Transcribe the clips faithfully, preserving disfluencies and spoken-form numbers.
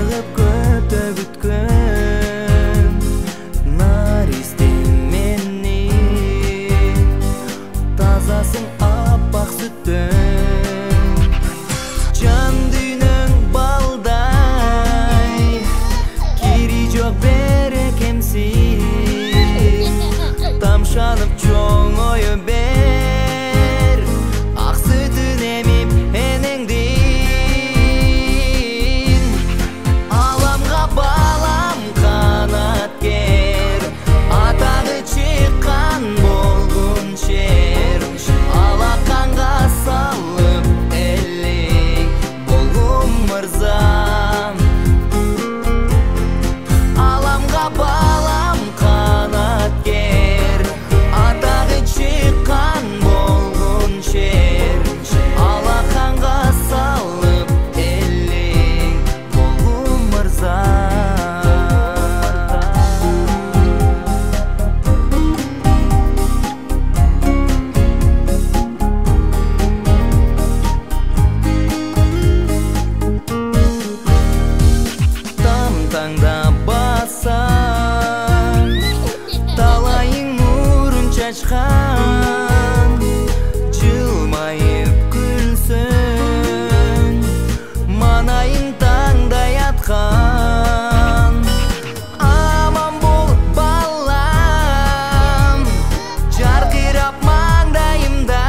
чыгып көтө күткөн наристен мени тазасың аппак сүттөн жан дүйнөң балдай кири жок берекемсиз тамшанып чоңою бер ак сүтүн эмип энеңдин аламга балам канаткер атагы чыккан болгун шер алаканга салып элек болгум мырзам аламга балам канаткер атагы чыккан болгун шер алаканга салып элек болгум мырзам там таңда бассаң талайың нурун чачкан жылмайып күлсөң манайың таңдай аткан аман бол балам жаркырап маңдайымда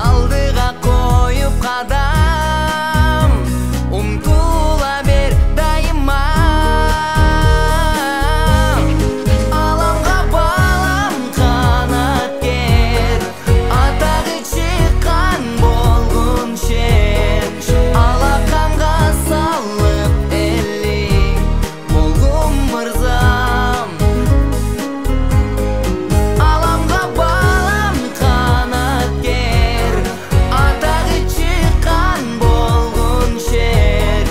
алдыга коюп кадам умтула бер дайыма аламга балам канаткер атагы чыккан болгун шер алаканга салып элек болгум мырзам аламга балам канаткер атагы чыккан болгун шер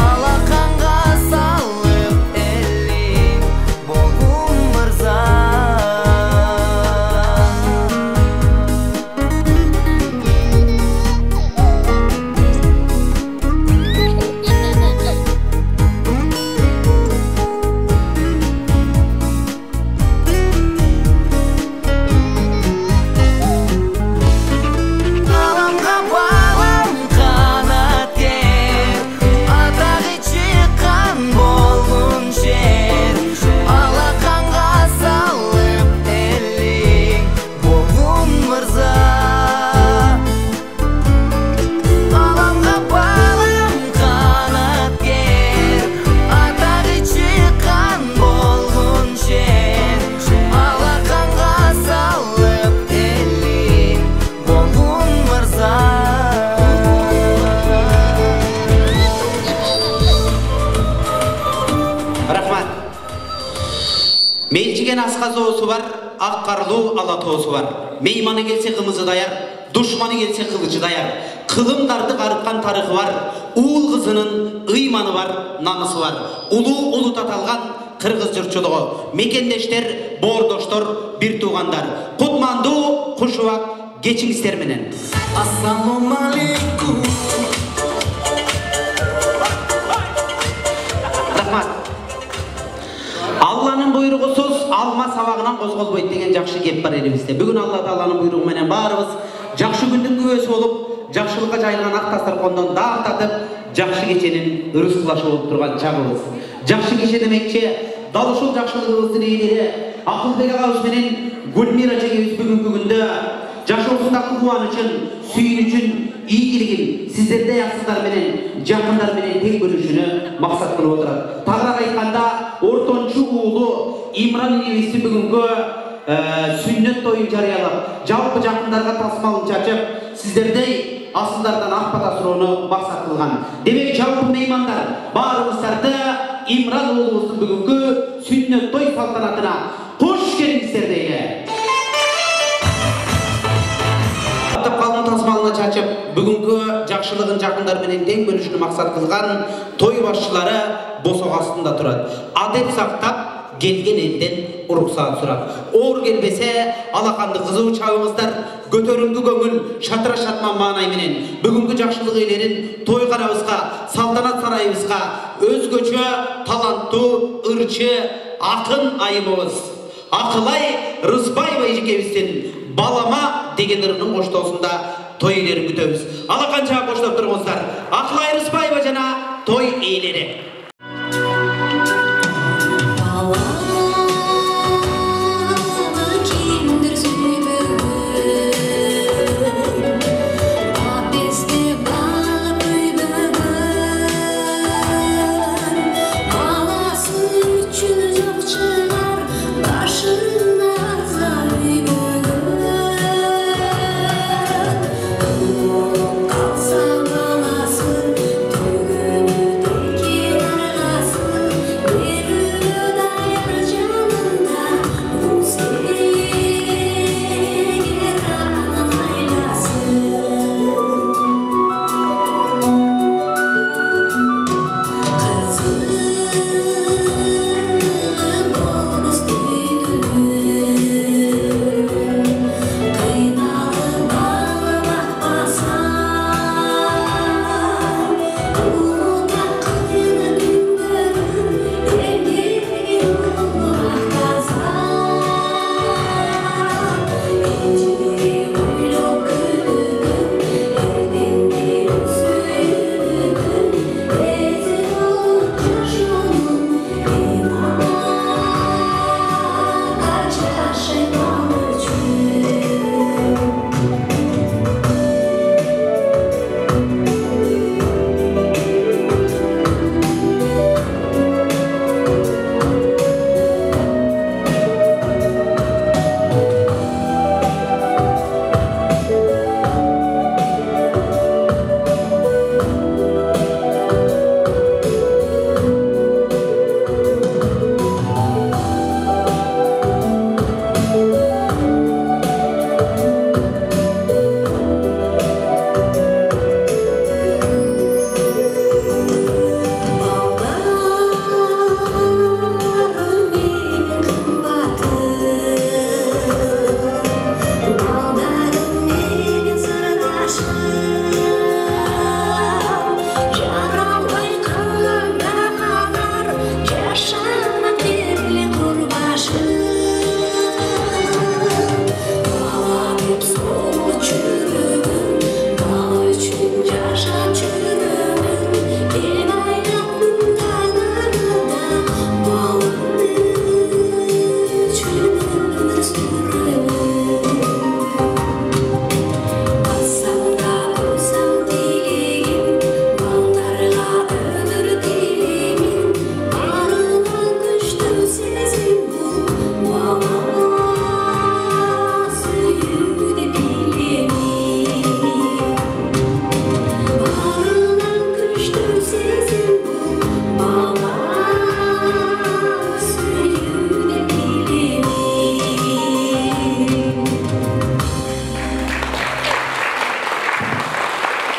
алаканга салып элек болгум аламга балам канаткер атагы чыккан болгун шер алаканга салып элек болгум мырза аламга балам канаткер атагы чыккан болгун шер алаканга салып элек болгум мырза Рахмат. Менчиген асқа зоосу бар, ак карлуу ала тоосу бар. Мейманы келсе кымызы даяр, душманы келсе кылычы даяр. Кылымдарды карыткан тарыхы бар, уул кызынын ыйманы бар, намысы бар. Улуу улут аталган кыргыз журтчулугу, мекендештер, боордоштор, бир туугандар. Кутмандуу, кушубак кечиңиздер менен. Ассалому алейкум. Рахмат. Алланын буйругусуз алма сабагынан козголбойт деген жакшы кеп бар элибизде. Бүгүн Алла Тааланын буйругу менен баарыбыз жакшы күндүн күбөсү болуп, жакшылыкка жайылган ак дасторкондон даам татып, жакшы кеченин ырыскылашы болуп турган чагыбыз. Жакшы кече демекчи, дал ушул жакшылыгыбыздын ээлери Акылбек агабыз менен Гүлмира жеңебиз бүгүнкү күндө жашоосундагы кубанычын, сүйүнүчүн, ийгилигин сиздердей аксыздар менен, жакындар менен тең бөлүшүнү максат кылып отурат. Тагыраак айтканда, ортончу уулу Имран энебизди бүгүнкү сүннөт тоюн жарыялап, жалпы жакындарга тасмалын чачып, сиздердей асылдардан ак бата суроону максат кылган. Демек, жалпы меймандар, баарыбыздарды Имран уулубуздун бүгүнкү сүннөт той салтанатына кош келиңиздер дейли. Калдын тасмалына чачып, бүгүнкү жакшылыгын жакындар менен тең бөлүшүнү максат кылган той башчылары босок астында турат. Адеп сактап, келген элден уруксаат сурап. Оор келбесе алаканды кызуу чабыңыздар, көтөрүңдү көңүл, шатыра шатман маанай менен бүгүнкү жакшылык ээлерин той канабызга, салтанат сарайыбызга өзгөчө таланттуу, ырчы, акын айымыбыз Акылай Рыспаева эжекебиздин балама деген ырынын коштоосунда той ээлерин күтөбүз. Алаканча коштоп туруңуздар. Акылай Рыспаева жана той ээлери.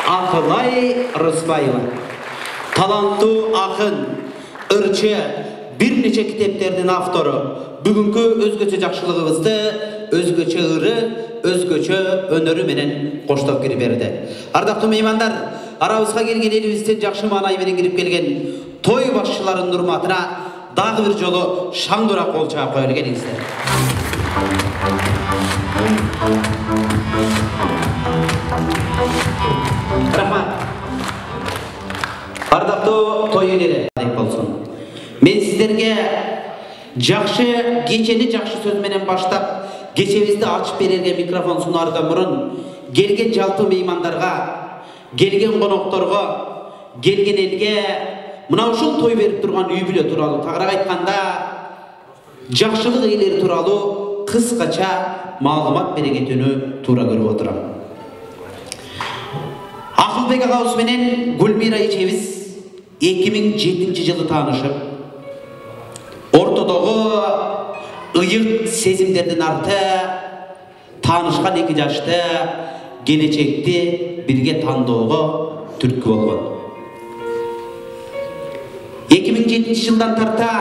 Акылай Рыспаева таланттуу акын, ырчы, бир нече китептердин автору. Бүгүнкү өзгөчө жакшылыгыбызды өзгөчө ыры, өзгөчө өнөрү менен коштоп кирип берди. Ардактуу меймандар, арабызга келген элибиздин жакшы маанай менен кирип келген той башчыларынын урматына дагы бир жолу шаңдуураак кол чаап коелу, келиңиздер. Рахмат. Ардактуу той ээлери болсун. Мен сиздерге жакшы кечени жакшы сөз менен баштап, кечебизди ачып берерге микрофон сунаардан мурун келген жалпы меймандарга, келген конокторго, келген элге мына ушул той берип турган үй бүлө тууралуу, тагыраак айтканда жакшылык ээлери тууралуу кыскача маалымат бере кетүүнү туура көрүп отурам. Акылбек агабыз менен Гүлмира эжебиз эки миң жетинчи жылы таанышып, ортодогу ыйык сезимдердин арты таанышкан эки жашты келечекти бирге тандоого түрткү болгон. эки миң жетинчи жылдан тарта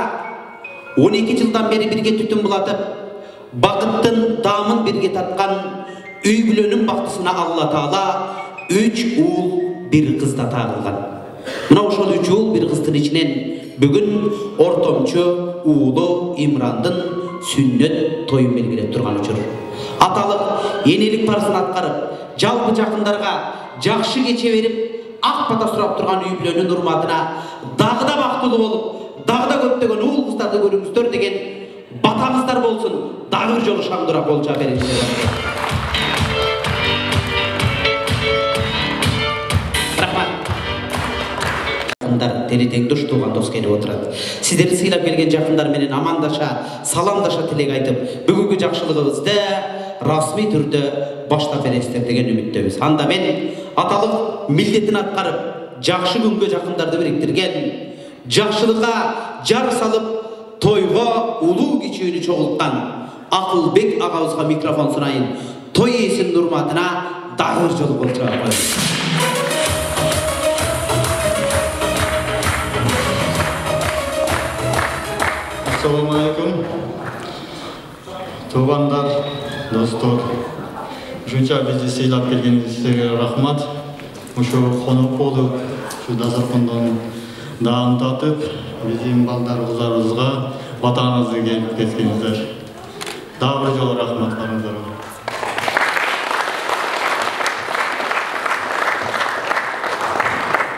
он эки жылдан бери бирге түтүн булатып, бакыттын даамын бирге таткан үй бүлөнүн бактысына Алла Таала үч уул, бир кыз да тагылган. Мына ошол үч уул, бир кыздын ичинен бүгүн ортомчу уулу Имрандын сүннөт тоюн белгилеп турган учур. Аталык энелик парызын аткарып, жалпы жакындарга жакшы кече берип, ак бата сурап турган үй бүлөнүн урматына дагы да бактылуу болуп, дагы да көптөгөн уул кыздарды көрүңүздөр деген батаңыздар болсун. Дагы бир жолу шаңдырап кол жаап бериңиздер. Телетең душ тууган дос келип отурат. Сиздерди сыйлап келген жакындар менен амандаша, саламдаша тилек айтып, бүгүнкү жакшылыгыбызды расмий түрдө баштап бересиздер деген үмүттөбүз. Анда мен аталык милдетин аткарып, жакшы күнгө жакындарды бириктирген, жакшылыкка жар салып, тойго улуу кичүүнү чогулткан Акылбек агабызга микрофон сунайын. Той ээсинин урматына дагы бир жолу кол жаап коебуз. Assalamu alaikum. Tuğanlar, dostlar. Ушунча бизди сыйлап келгениңизге рахмат. Ушу конок болуп, ушу дасаркондон даам татып, биздин балдарыбызга батаңызды келип кеткениңиздер. Дагы бир жолу рахматтарыңыздарга.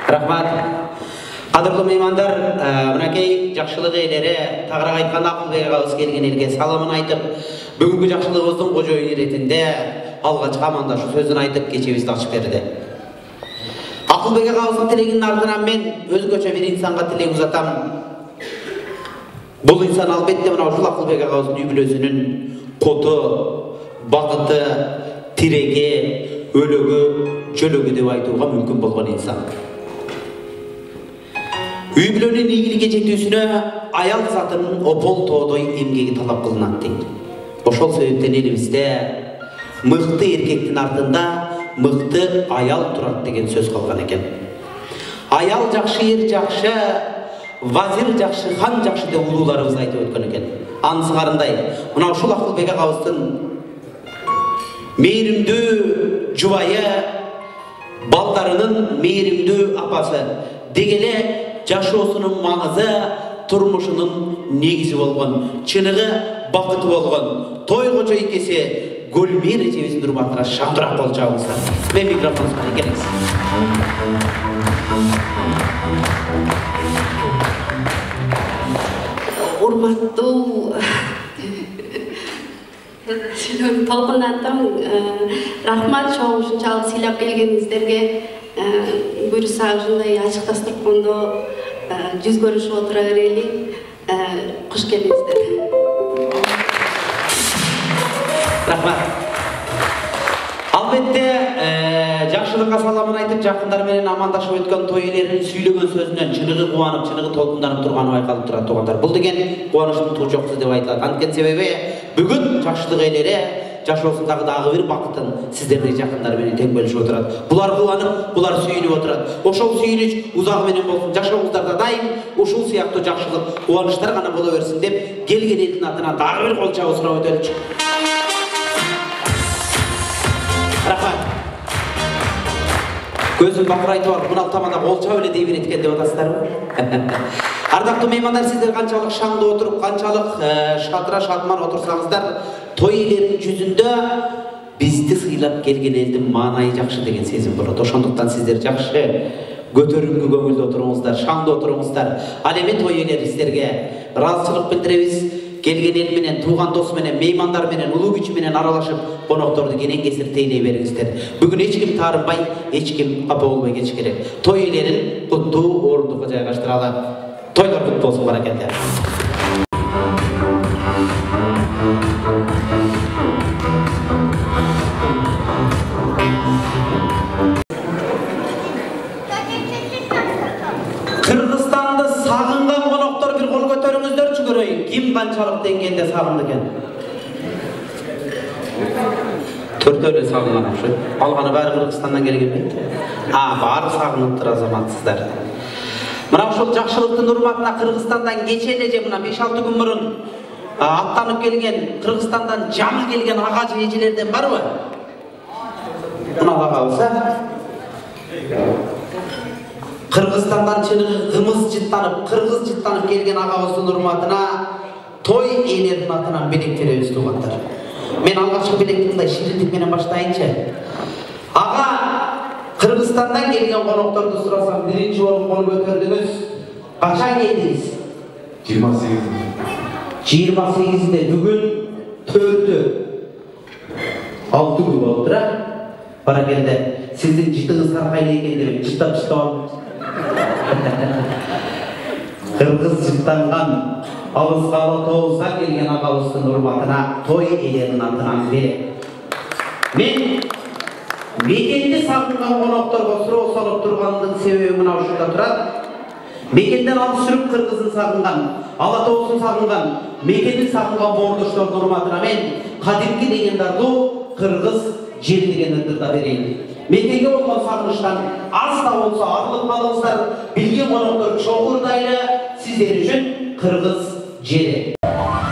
Рахмат. Кадырлуу меймандар, мынакей жакшылык ээлери, тагыраак айтканда Акылбек агабыз келген элге саламын айтып, бүгүнкү жакшылыгыбыздын кожоюну иретинде алгачкы амандашуу сөзүн айтып кечебизди ачып берди. Акылбек агабыздын тилегинин артынан мен өзгөчө бир инсанга тилек узатам. Бул инсан албетте мына ушул Акылбек агабыздын үй бүлөсүнүн коту, бакыты, тиреги, өлөгү, жөлөгү деп айтууга мүмкүн болгон инсан. Үй бүлөнүн ийгиликке жетүүсүнө аял затынын опол тоодой эмгеги талап кылынат дейт. Ошол себептен элибизде мыкты эркектин артында мыкты аял турат деген сөз калган экен. Аял жакшы, эр жакшы, вазир жакшы, хан жакшы деп улууларыбыз айтып өткөн экен. Анысы карындай, мына ушул Акылбек агабыздын мээримдүү жубайы, балдарынын мээримдүү апасы дегеле жашоосунун маңызы, турмушунун негизи болгон, чыныгы бакыты болгон той кожо ийкеси Гөлмир эжебиздин урматына шаңдырак кол жаабыңыздар. Мен микрофон сунайын, келиңиз. Урматтуу толкунаттым, рахмат чоң ушунчалык сыйлап келгениңиздерге. Буюрса ушундай ачык дасторкондо жүз көрүшүп отура берели. Куш келиңиздер. Рахмат. Албетте жакшылыкка саламын айтып, жакындар менен амандашып өткөн той ээлеринин сүйлөгөн сөзүнөн чыныгы кубанып, чыныгы толкунданып турганы байкалып турат туугандар. Бул деген кубанычтын туу жоксу деп айтылат. Анткени себеби бүгүн жакшылык ээлери жашоосундагы дагы бир бакытын сиздердей жакындар менен тең бөлүшүп отурат. Булар кубанып, булар сүйүнүп отурат. Ошол сүйүнүч узак менен болсун. Жашооңуздарда дайым ушул сыяктуу жакшылык, кубанычтар гана боло берсин деп келген элдин атынан дагы бир кол жаап сурап өтөлүчү. Рахмат. Көзүм бакырайтып алып, мына тамада кол чаап эле дей берет экен деп атасыздарбы? Ардактуу меймандар, сиздер канчалык шаңды отуруп, канчалык шатыра шатман отурсаңыздар, той ээлеринин жүзүндө бизди сыйлап келген элдин маанайы жакшы деген сезим болот. Ошондуктан сиздер жакшы көтөрүңкү көңүлдө отуруңуздар, шаңды отуруңуздар. Ал эми той ээлери сиздерге ыраазычылык билдиребиз. Келген эл менен, тууган дос менен, меймандар менен, улуу күч менен аралашып, конокторду кенен кесир тейлей бериңиздер. Бүгүн эч ким таарынбай, эч ким капа болбой кетиш керек. Той ээлерин куттуу орундукка жайгаштыралы. Тойлор куттуу болсун, баракелде. Кыргызстанды сагынган коноктор бир кол көтөрүңүздөрчү көрөйүн. Ким канчалык деңгээлде сагынды экен? Төртөөлө сагынган ошо. Алганы баары Кыргызстандан келген бе? А, баары сагынып тур азаматсыздар. Мына ошол жакшылыктын урматына Кыргызстандан кече эле же мына беш алты күн мурун аттанып келген, Кыргызстандан жамы келген ага же эжелерден барбы? Мына агабыз, а? Кыргызстандан чыныгы кымыз жыттанып, кыргыз жыттанып келген агабыздын урматына той ээлердин атынан белек беребиз, туугандар. Мен алгачкы белекти мындай ширинтик менен баштайынчы. Ага Кыргызстандан келген конокторду сурасам, биринчи болуп кол көтөрдүңүз. Качан келдиңиз? жыйырма сегиз. жыйырма сегизинде бүгүн төртү. алты күн болуптур, а? Баракелде. Сиздин жытыңызга кайда экен деп жыттап чыктап. Кыргыз жыттанган Алыс Кала Тооздан келген агабыздын урматына той ээлеринин атынан берем. Мен мекенди сагынган конокторго суроо салып тургандын себеби мына ушунда турат. Мекенден алыс жүрүп кыргызын сагынган, Ала Тоосун сагынган, мекенди сагынган боордоштордун урматына мен кадимки деген дардуу кыргыз жери деген ырдырда берейин. Мекенге болгон сагынычтан аз да болсо арылып калыңыздар. Билген коноктор чогурдайлы сиздер үчүн кыргыз жери. Ала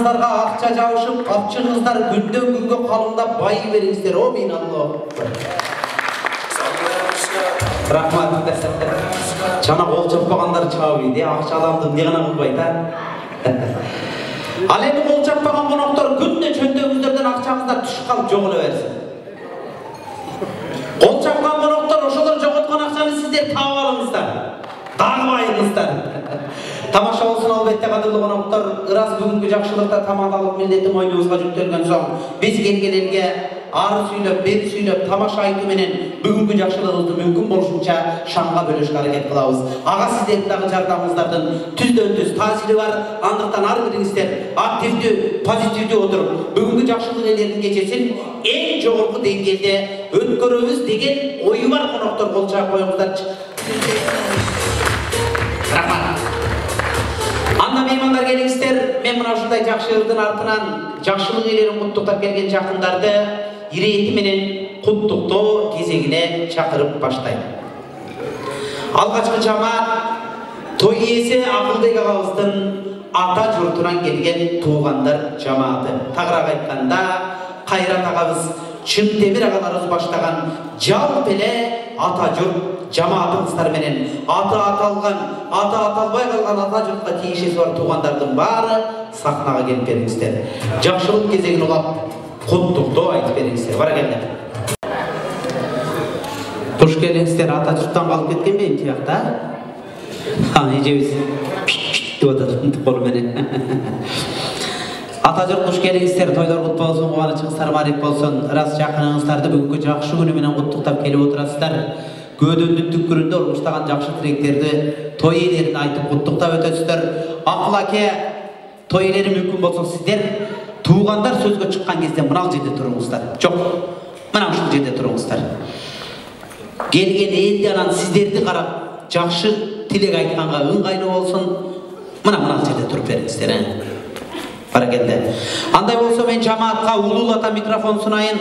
кыздарга акча жабышып, капчыгыңыздар күндөн күнгө калыңдап бай бериңиздер. Амин Аллах. Рахмат. Жана кол чаппагандар чабыйт, акча аламды эмне гана кылбайт а? Ал эми кол чаппаган коноктор күндө чөнтөгүңүздөрдөн акчаңыздар түшүп калып жоголо берсин. Кол чапкан коноктор ошолор жоготкон акчаны сиздер таап алыңыздар. Дагы байыңыздар. Тамаша болсун албетте кадырлуу коноктор. Ырас бүгүнкү жакшылыкта тамадалык милдети мойнубузга жүктөлгөн соң биз келген элге ары сүйлөп, бери сүйлөп, тамаша айтуу менен бүгүнкү жакшылыгыбызды мүмкүн болушунча шаңга бөлүшкө аракет кылабыз. Ага сиздердин дагы жардамыңыздардын түздөн түз таасири бар. Андыктан ар бириңиздер активдүү, позитивдүү отуруп, бүгүнкү жакшылык элердин кечесин эң жогорку деңгээлде өткөрөбүз деген ою бар коноктор кол чаап коюңуздарчы. Рахмат. Анда меймандар келиңиздер. Мен мына ушундай жакшы ырдын артынан жакшылык элерин куттуктап келген жакындарды ирети менен куттуктоо кезегине чакырып баштайм. Алгачкы жамаат той ээси Акылбек агабыздын ата журтунан келген туугандар жамааты. Тагыраак айтканда, Кайрат агабыз, Чын Темир агаларыбыз баштаган жалпы эле ата журт жамаатыңыздар менен аты аталган, аты аталбай калган ата журтка тиешеси бар туугандардын баары сахнага келип бериңиздер. Жакшылык кезегин улап, куттуктоо айтып бериңиздер. Баракелде. Туш келиңиздер, ата журттан калып кеткенби эми тиякта? Ха, эжебиз деп атат колу менен. Ата журт туш келиңиздер, тойлор куттуу болсун, кубанычыңыздар барик болсун. Ырас жакыныңыздарды бүгүнкү жакшы күнү менен куттуктап келип отурасыздар. Көдөндүн түпкүрүндө урмуштаган жакшы тилектерди той ээлерин айтып куттуктап өтөсүздөр. Акыл аке, той ээлери мүмкүн болсо сиздер туугандар сөзгө чыккан кезде мына жерде туруңуздар. Жок, мына ушул жерде туруңуздар. Келген элди анан сиздерди карап жакшы тилек айтканга ыңгайлуу болсун. Мына мына жерде туруп бериңиздер. Баракелде. Андай болсо мен жамаатка улуулата микрофон сунайын.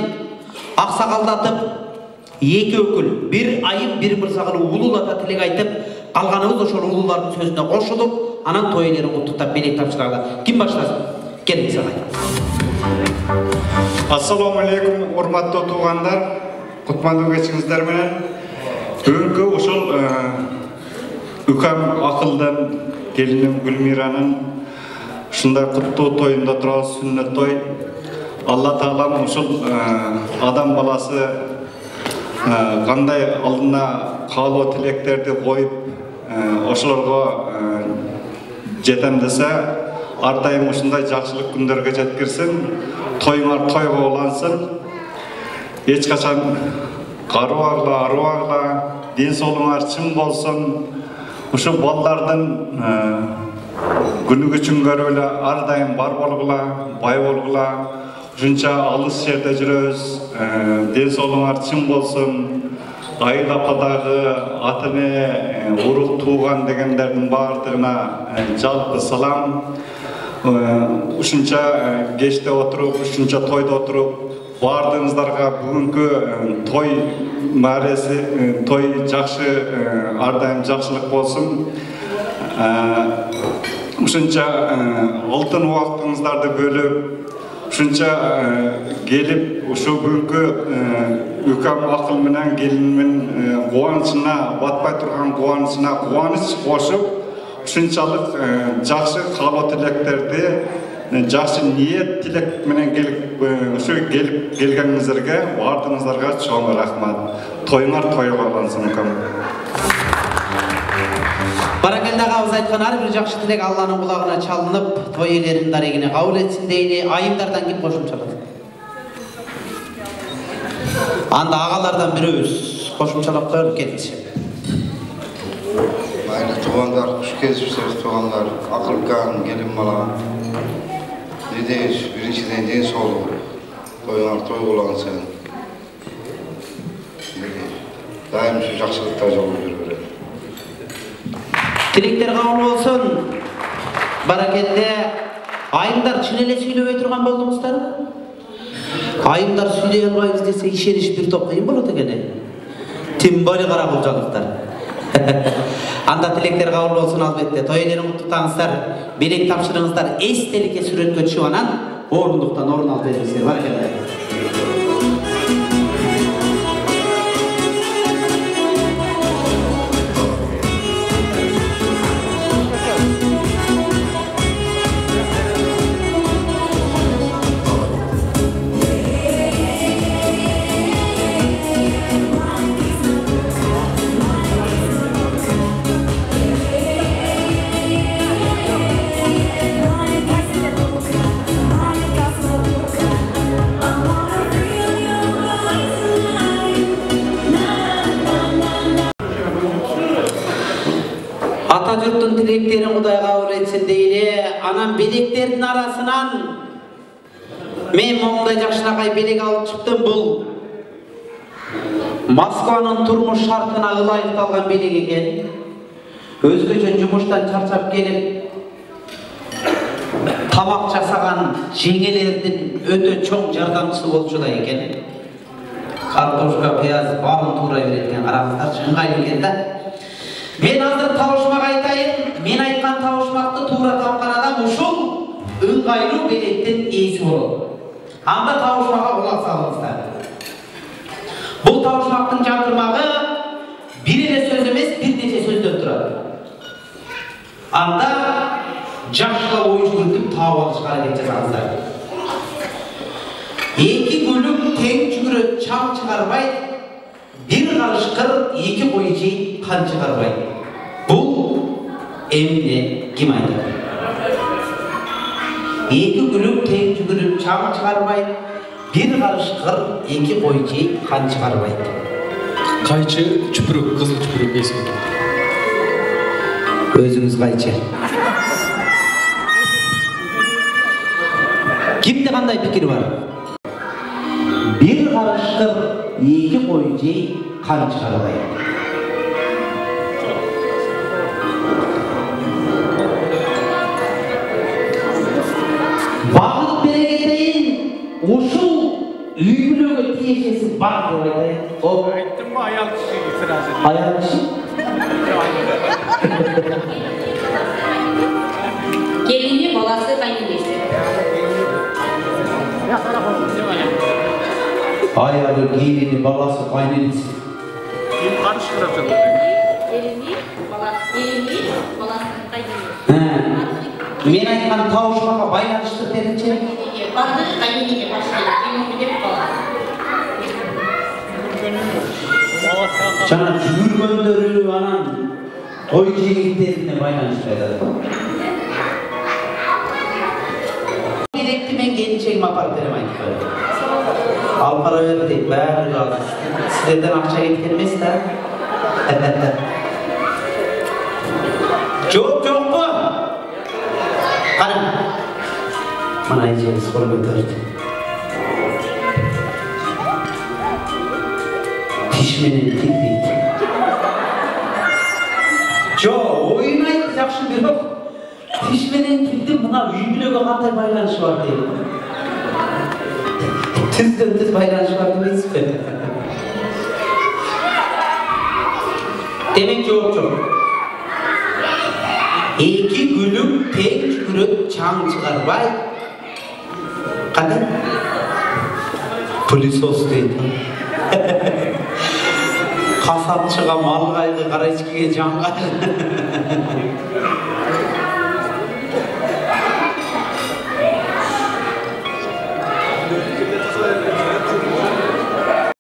Аксакалдатып эки өкүл, бир айым, бир мырза кылып улуулата тилек айтып, калганыбыз ошол улуулардын сөзүнө кошулуп, анан той ээлерин куттуктап белек тапшыралы. Ким баштасын? Келиңиз агай. Ассаламу алейкум, урматтуу туугандар. Кутмандуу кечиңиздер менен. Бүгүнкү ушул Үкам Акылдан келиним Гүлмиранын ушундай куттуу тоюнда турабыз, сүннөт той. Алла Таалам ушул адам баласы кандай алдына каалоо тилектерди коюп, ошолорго жетем десе, ар дайым ушундай жакшылык күндөргө жеткирсин, тоюңар тойго улансын. Эч качан карыбагыла, арыбагыла, ден соолугуңар чың болсун. Ушу балдардын күнү күчүн көрүп эле ар дайым бар болгула, бай болгула. Ушунча алыс жерде жүрөбүз, ден соолугуңар чың болсун. Айыл ападагы атыне, урук тууган дегендердин баардыгына жалпы салам. Ушунча кечте отуруп, ушунча тойдо отуруп, баардыгыңыздарга бүгүнкү той мареси, той жакшы, ар дайым жакшылык болсун. Ушунча алтын убактыңыздарды бөлүп, ушунча келип, ушу бүгүнкү Үкам Акыл менен келинимин кубанычына, батпай турган кубанычына кубаныч кошуп, ушунчалык жакшы каалоо тилектерди, жакшы ниет тилек менен келип, ушу келип келгениңиздерге баардыгыңыздарга чоң рахмат. Тоюңар тойго улансын Үкам. Баракелде агабыз айткан ар бир жакшы тилек Алланын кулагына чалынып, той ээлеринин дарегине кабыл этсин дейли. Айымдардан ким кошумчалат? Анда агалардан бирөөбүз кошумчалап коелу, келиңиз. Майра туугандар, куш келипсиздер туугандар, Акылбек келин бала. Биринчи, биринчиден ден соолук, тоюңар той улансын. Дайым ушу жакшылыкта жол жүрүп берет. Тилектер кабыл болсун. Баракелде. Айымдар чын эле сүйлөбөй турган болдуңуздарбы? Айымдар сүйлөй албайбыз десе ишениш бир топ кыйын болот экен. Тим боле кара кылжалыктар. Анда тилектер кабыл болсун албетте. Той элерин куттуктаңыздар, белек тапшырыңыздар, эстеликке сүрөткө түшүп анан орундуктан орун алып бериңиздер. Баракалла. Ата журттун тилектерин Кудай кабыл этсин дейли. Анан белектердин арасынан мен момундай жакшынакай белек алып чыктым. Бул Москванын турмуш шартына ылайыкталган белек экен. Өзгөчө жумуштан чарчап келип тамак жасаган жеңелердин өтө чоң жардамчысы болчу да экен. Картошка, пияз баарын туура берет экен. Караңыздарчы, ыңгайлуу экен да. Мен азыр табышмак айтайын. Мен айткан табышмакты туура тапкан адам ушул ыңгайлуу белектин ээси болот. Анда табышмакка кулак салыңыздар. Бул табышмактын жалтырмагы бир эле сөз эмес, бир нече сөздөн турат. Анда жакшылап ой жүгүртүп таап алышка аракет жасаңыздар. Эки көлүк тең жүгүрөт, чаң чыгарбайт. Bir karışkır iki koyucu kan çıkarmayı. Bu emine kim aytadi? İki gülüp tek tükürüp çam çıkarmayı. Bir karışkır iki koyucu kan çıkarmayı. Kayçı çüpürük, kızıl çüpürük esmi. Özünüz kayçı. Kimde kanday fikir var? Bir karışkır iki koyucu kan çıkarmayı. Bağlık bereketeyin uşul üylüğü tiyesesi var diye. O Ayttım mı ayal kişi itiraz ediyor. Ayal kişi? Gelini balası kaynanesi. Ayalı, gelini, balası, kaynanesi. Kim karıştırıp atıldı? Gelini, balası, gelini, balası kaynanesi. Men aytkan tavuşmaga байланыштыр дединчи. Барды kaynanesi başlaydı. Gelini bir balası. Жана жүргөндөрү анан той жигиттерине байланыштыр айтат. Керекти мен келинчегиме апарып берем айтып коём. Алып кара бер дейт, баары разы. Силерден акча кеткен эмес да. Жок, жокпу? Кара. Мына эжеңиз кол көтөрдү. Тиш менен тил дейт. Жок, оюн айтты жакшы бирок. Тиш менен тилдин мына үй бүлөгө кандай байланышы бар дейт. Тизден тиз байланышы бар демейсизби? Демек жооп жок. Эки күлүк тең жүгүрөт, чаң чыгарбай. Кандай? Пылесос дейт. Касапчыга мал кайгы, карачкиге жан кайгы.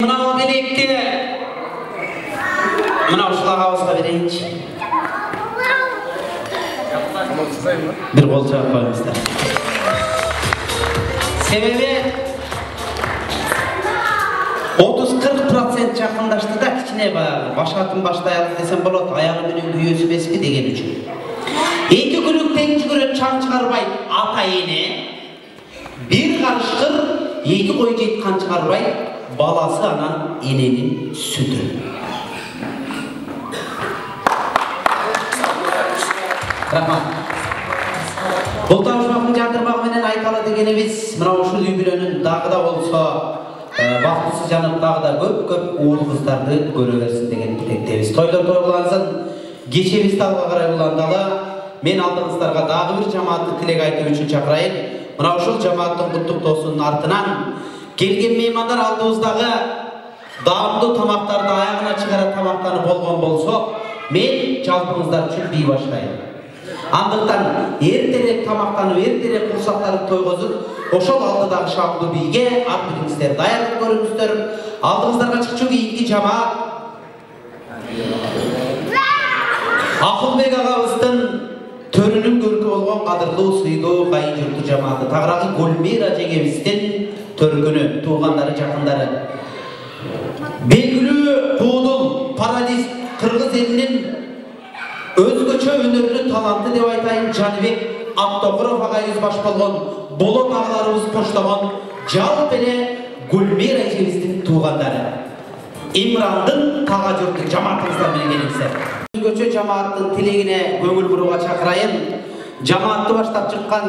Мына белекти мына ушул агабызга берейинчи. Bir kol çabuk koymuşlar. Sebebi otuz kırk prosent жақындашты да кичине баягы башатын баштай алып десем болот, аягы менен күйөөсү беспи деген үчүн. Эки күлүк тең жүгүрөт, чаң чыгарбайт ата эне. Бир карышкыр эки кой жейт, кан чыгарбайт баласы анан эненин сүтү. Рахмат. Бұл табышмақтың жандырмағы менен айталы дегенimiz мына ушул үй бүлөнүн дагы да болсо бактысы жанып дагы да көп көп уул кыздарды көрө берсин деген тилектебиз. Тойлор тойлансын, кечебизди алга карай уландалы. Мен алдыңыздарга дагы бир жамаатты тилек айтуу үчүн чакырайын. Мына ушул жамааттын куттуктоосунун артынан келген меймандар алдыбыздагы даамдуу тамактарды аягына чыгара тамактанып болгон болсо, мен жалпыңыздар үчүн бий баштайм. Андыктан эртерээк тамактанып, эртерээк курсактарды тойгозуп, ошол алдыдагы шамдуу бийге ат миниңиздер, даярдык көрүңүздөр. Алдыңыздарга чыкчу кийинки жамаат Акылбек агабыздын төрүнүн көркү болгон кадырлуу сыйдуу кайын журту жамааты тагыраагы Гүлмира жеңебиздин төркүнү, туугандары, жакындары. Белгилүү куудул парадис кыргыз элинин өзгөчө өнөрлүү таланты деп айтайын, Жаныбек Абдокуров агайыбыз баш болгон, болот агаларыбыз коштогон жалп эле Гүлмира эжебиздин туугандары. Имрандын тага журту жамаатыбыздар менен келиңиздер. Өзгөчө жамааттын тилегине көңүл бурууга чакырайын. Жамаатты баштап чыккан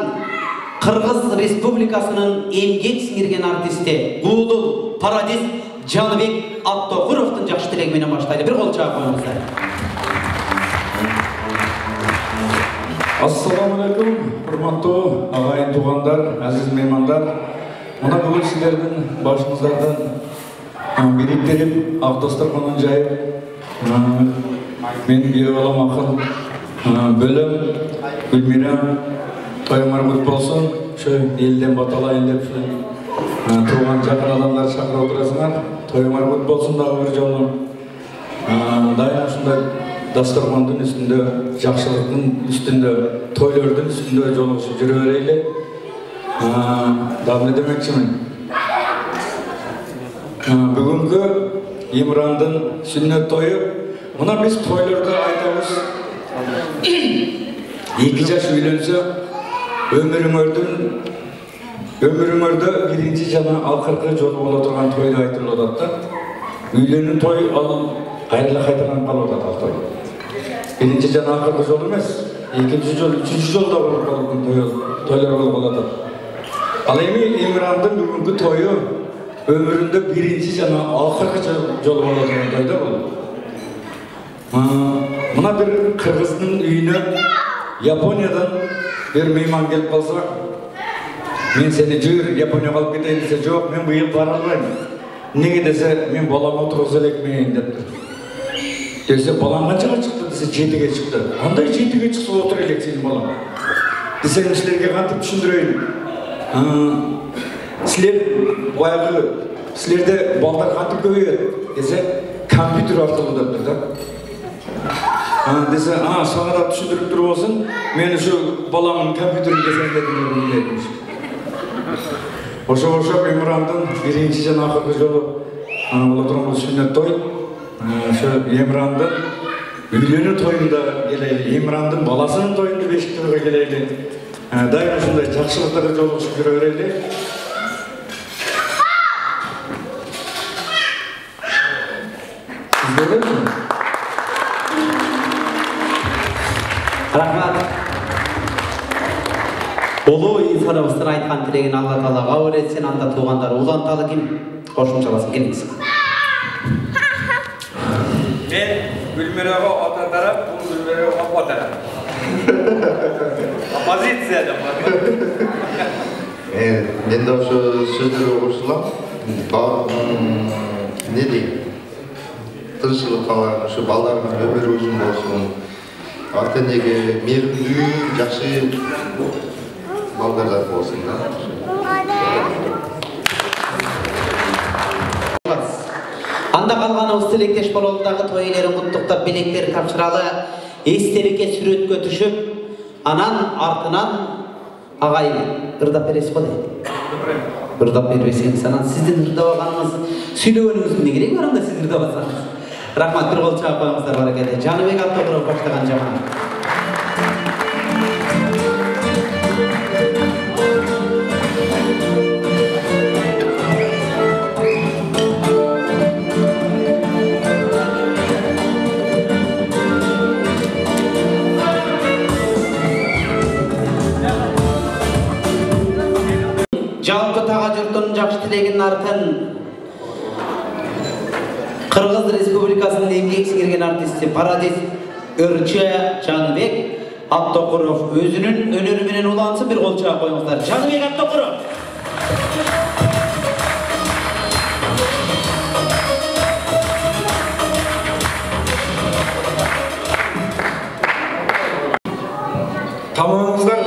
Кыргыз Республикасынын эмгек сиңирген артисти, куудул парадис Жаныбек Абдокуровдун жакшы тилеги менен баштайлы. Бир кол чаап коюңуздар. Ассаламу алейкум, урматтуу агайын туугандар, азиз меймандар. Мына бүгүн силердин башыңыздардан бириктирип, ак дасторконун жайып, мен бие балам акын бөлөм Гүлмира тоюңар кут болсун. Ошо элден баталайын деп тууган жакын адамдар чакырып отурасыңар. Тоюңар кут болсун дагы бир жолу. Дайым ушундай дасторкондун үстүндө, жакшылыктын үстүндө, тойлордун үстүндө жолугушуп жүрө берели. Дагы эмне демекчимин? Бүгүнкү Имрандын сүннөт тою. Мына биз тойлордо айтабыз, эки жаш үйлөнсө, өмүрүңөрдүн өмүрүңөрдө биринчи жана акыркы жолу боло турган тойду айтылып атат да. Үйлөнүү той ал кайра кайталанып калып атат ал той. Биринчи жана акыркы жол эмес, экинчи жол, үчүнчү жолда болуп калган тойлор болуп калат. Ал эми Имрандын бүгүнкү тою өмүрүндө биринчи жана акыркы жолу боло турган той да бул. Мына бир кыргыздын үйүнө Япониядан бир мейман келип калса, мен сени жүр Японияга алып кетейин десе, жок, мен быйыл бара албайм. Неге десе, мен балам отургуза элекмин дептир. Десе, балам канчага чыкты десе, жетиге чыкты. Андай жетиге чыкса отура элек сенин балам. Десем, силерге кантип түшүндүрөйүн? Силер баягы силерде балдар кантип көбөйөт десе, компьютер аркылуу дептир да. Десе, а, сага да түшүндүрүп туруп болсун, мен ушу баламдын компьютерин кезендетип элем. Ошо-ошо Имрандын биринчи жана акыркы жолу боло турган сүннөт той. Ошо Имрандын үйлөнүү тоюнда келели, Имрандын баласынын тоюнда бешик тойго келели. Дайым ушундай жакшылыктарга жолугушуп жүрө берели. Рахмат. Улуу инсаныбыздын айткан тилегин Алла Таала кабыл этсин, анда туугандар уланталы ким кошумчаласын келиңиз. Мен Гүлмирага ата тарап, бул Гүлмирага апа тарап. Оппозиция деп бар. Мен да ошо сөздөргө кошулам. Не дейм? Тынччылык калган, ошо балдардын өмүрү узун болсун. Ата энеге мээримдүү, жакшы балдардар болсун да. Анда калганыбыз тилектеш бололу дагы той ээлерин куттуктап, белектерин тапшыралы, эстеликке сүрөткө түшүп, анан артынан агай ырдап бересиз го дейт. Ырдап бербесеңиз, анан сиздин ырдабаганыңыз, сүйлөгөнүңүздүн эмне кереги бар анда сиз ырдабасаңыз? Рахмат, бир кол чаап коюңуздар, баракелде. Жаныбек Абдокуров баштаган жамаат. Жалпы тага журттун жакшы тилегинин артын Кыргыз Республикасынын эмгек сиңирген артисти Парадис Өрчө Жаныбек Абдокуров өзүнүн өнөрү менен улансын, бир кол чаап коюңуздар. Жаныбек Абдокуров. Тамамыңыздар.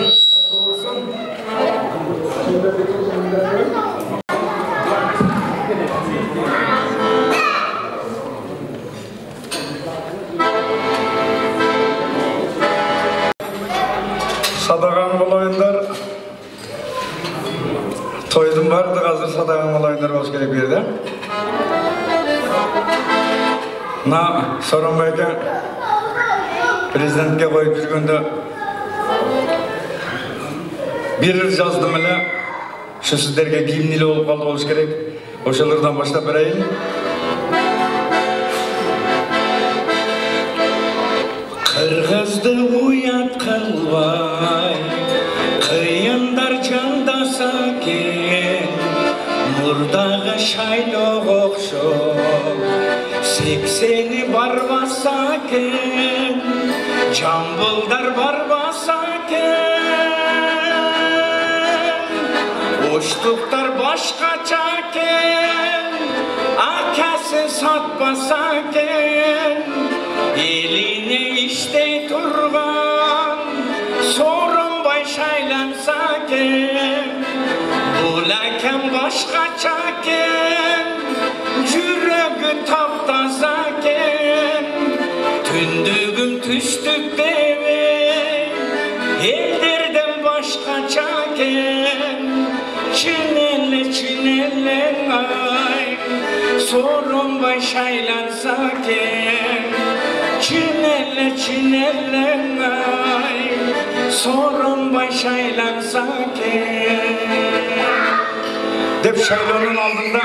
Садаган болоюндар. Тойдун бардыгы азыр садаган болоюндар болуш керек бу жерде. Мына Сооронбай эке президентке коюп жүргөндө бир жаздым эле, ушу сиздерге кийимдүү болуп калды болуш керек. Ошолордон баштап берейин. Кыргызды уят кылбай, кыйындар жандаса экен, мурдагы шайлоого окшоп, сексени барбаса экен, жамбылдар барбаса экен, оштуктар башкача экен, акасы сатпаса экен, элине иштей турган Сооронбай шайланса экен, бул акам башкача экен, жүрөгү таптаса экен, түндүгүм түштүк дебей, элдерден башкача экен, чын эле чын эле ай, Сооронбай шайланса экен, чын эле чын эле ай, Сооронбай шайланса экен деп шайлоонун алдында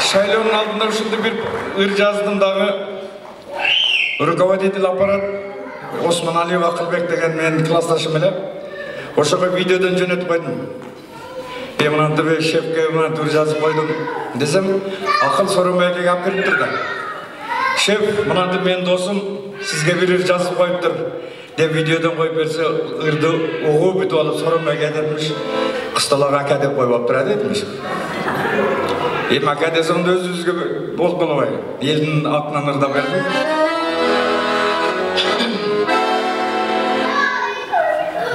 шайлоонун алдында ушундай бир ыр жаздым дагы. Руководитель аппарат Осман Алиев Акылбек деген менин классташым эле. Ошого видеодон жөнөтүп койдум. Мен мынантип шефке мынантип жазып койдум десем, Акыл Сооронбай экеге алып келиптир да. Шеф, мынантип менин досум сизге бир ыр жазып коюптур деп видеодон коюп берсе, ырды угуп бүтүп алып Сооронбай эке айтатмыш, кысталага ака деп коюп алыптыр айтатмыш. Эми ака десем да өзүбүзгө болуп калбайбы? Элдин атынан ырдап бердим.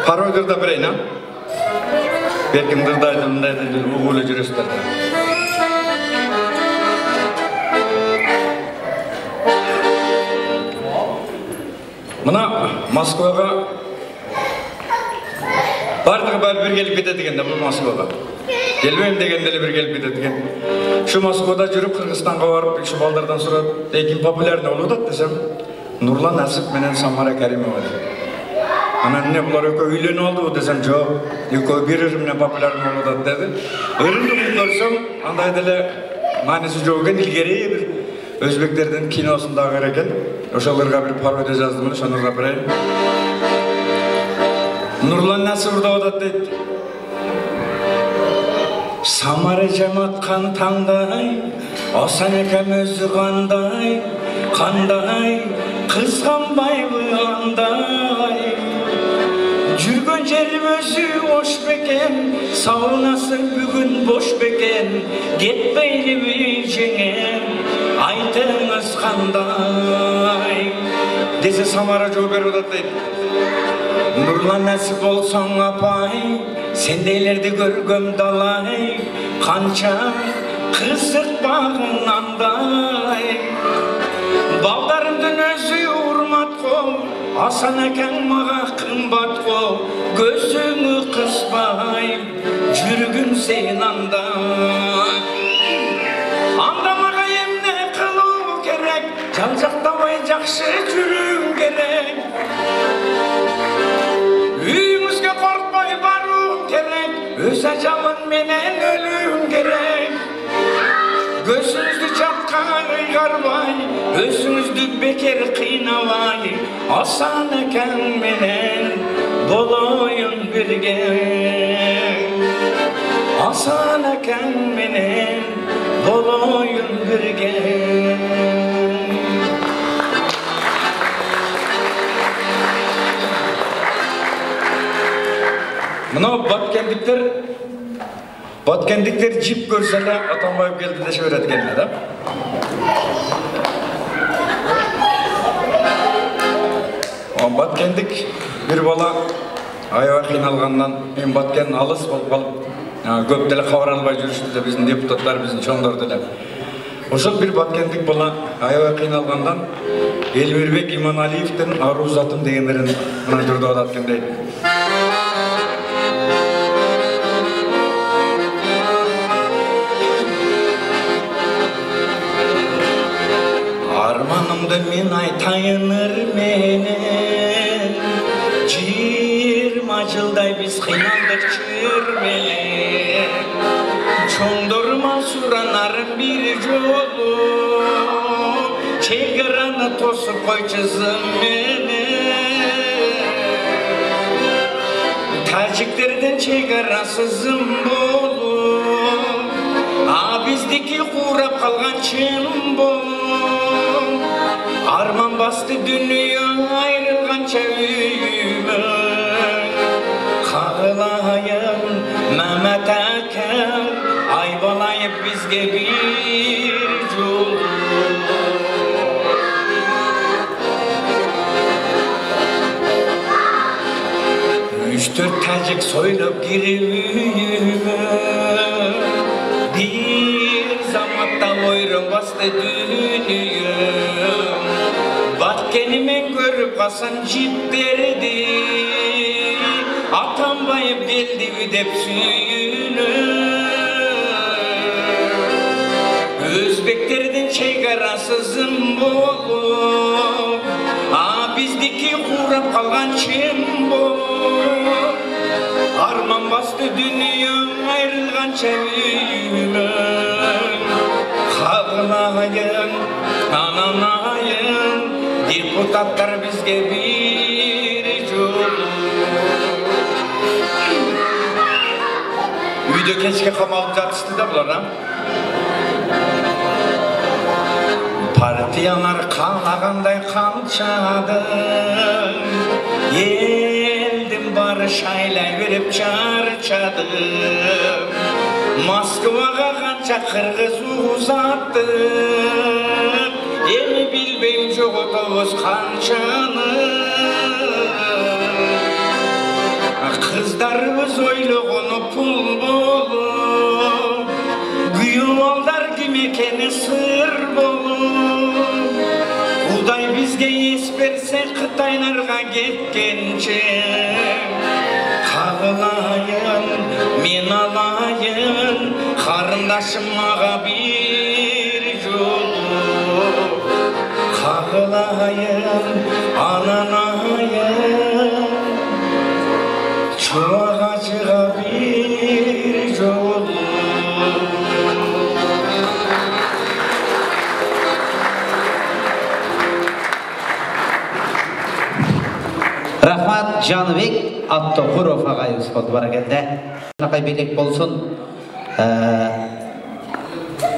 Пародия да берейин, а? Берким дырдайды, мындайды, угуп эле жүрөсүздөр. Мына Москвага бардыгы баары бир келип кетет экен да, бул Москвага. Келбейм дегенде эле бир келип кетет экен. Ушу Москвада жүрүп Кыргызстанга барып, ушу балдардан сурап, ким популярный болуп атат десем, Нурлан Асып менен Самара Каримова деп. Анан эмне булар экөө үйлөнүп алдыбы десем, жок, экөө бир ыр менен популярный болуп атат деди. Ырымды көрсөм, андай деле мааниси жок экен, илгери бир өзбектердин киносундагы ыр экен. Ошолорго бир пародия жаздым эле, ошону ырдап берейин. Нурлан Асып ырдап атат дейт. Самара жаматкан таңдай, Асан экем өзү кандай, кандай, кызганбайбы андай. Жүргөн жерим өзү ош бекен, саунасы бүгүн бош бекен, кетпейлиби жеңем, айтыңыз кандай. Десе Самара жооп берип атат дейт. Нурлан Асып болсоң апай, сендейлерди көргөм далай, канча кызык багынандай. Балдарымдын өзү урмат кол, Асан акаң мага кымбат кол, көзүңү кыспай, жүргүн сен анда. Анда мага эмне кылуу керек, жалжактабай жакшы жүрүүң керек. Үйүңүзгө кортпой барууң керек, өз ажалың менен өлүүң керек. Көзүңүздү жакка ыйгарбай, өзүңүздү бекер кыйнабай, Асан акаң менен болоюн бирге. Асан акаң менен болоюн бирге. Мына баткендиктер баткендиктер жип көрсө эле Атамбаев келди деше берет экен да. Баткендик бир бала аябай кыйналгандан эми баткен алыс болуп калып, көп деле кабар албай жүрүштү да биздин депутаттар, биздин чоңдор деле. Ошол бир баткендик бала аябай кыйналгандан Элмирбек Иманалиевдин Аруу затым дегендерин мына жүрдүп атат экен дейт. Armanımda men aytayınır menen, жыйырма жылдай биз кыйналдык чүрмелен, чоңдорма суранарым бир жолу, чегараны тосуп койчу зым менен. Тажиктердин чегарасы зым болуп, а биздики курап калган чын болуп. Arman bastı dünya ayrılgança üyümün, Kağılayın Mehmet Aker, aybalayıp bizge bir yol. Üç dört tacık soylup girip üyümün, bir zamatta oyrun bastı dünya. Batkenimen görüp kasan jiplerdi, Atambayıp geldi dep sүйünüp. Özbeklerden çegarası zım bolup, a bizdiki kurap kalgan çın bolup. Arman bastı dünya ayrılgança üyümün, Kağılayın, ananayın, депутаттар бизге бир жолу. Үйдө кечке камалып жатышты да булар, а? Партиялар каалагандай канчады, элдин баары шайлай берип чарчады. Москвага канча кыргыз узатты, эми билбейм жоготобуз канчаны. Кыздарыбыз ойлогону пул болуп, күйөө балдар ким экени сыр болуп. Кудай бизге эс берсе Кытайларга кеткенче, кагылайын, мен алайын, карындашым мага бир жолу. Kağılayın, ananayın, çuvağa acığa bir yolu. Rahmat Canыбек Аттокуров агайыбыз болду баракелде. Акай белек болсун.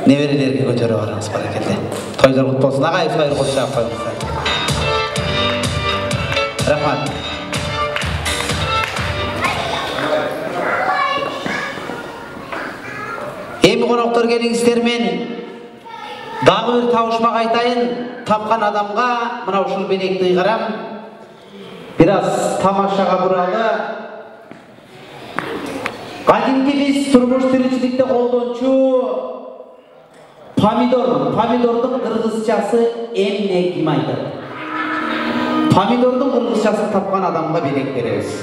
Неберелерге көтөрүп барыңыз баракелде. Toylar kutlu olsun. Ağay sayır kutlu koyunuzlar. Rahmat. Emi konoktor gelingizlermen dagы bir tavuşmak aytayın. Tapkan adamga mına uşul belekti ıйгаram. Biraz tamaşaga buralı. Kadimki biz turmuş tiricilikte kolonçu Pomidor, pomidordun kırgızçası emne kim aytır? Pomidordun kırgızçaсын tapkan adamga belek bereriz.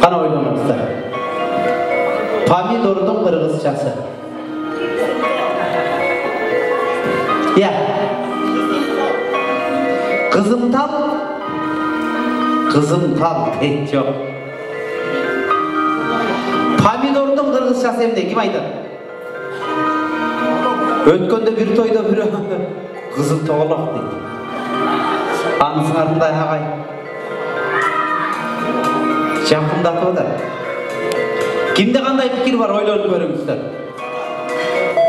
Kana oylanыңыздар. Pomidordun kırgızçası. Ya. Kızım tal. Kızım tal. Hiç yok. Pomidordun kırgızçası emne kim aytır? Ötkönde bir toyda bir kızım toğlak deydi. Anısın ardınday ağay. Жақындатып отыр. Kimde qanday fikir var ойлонуп көрүңүздөр.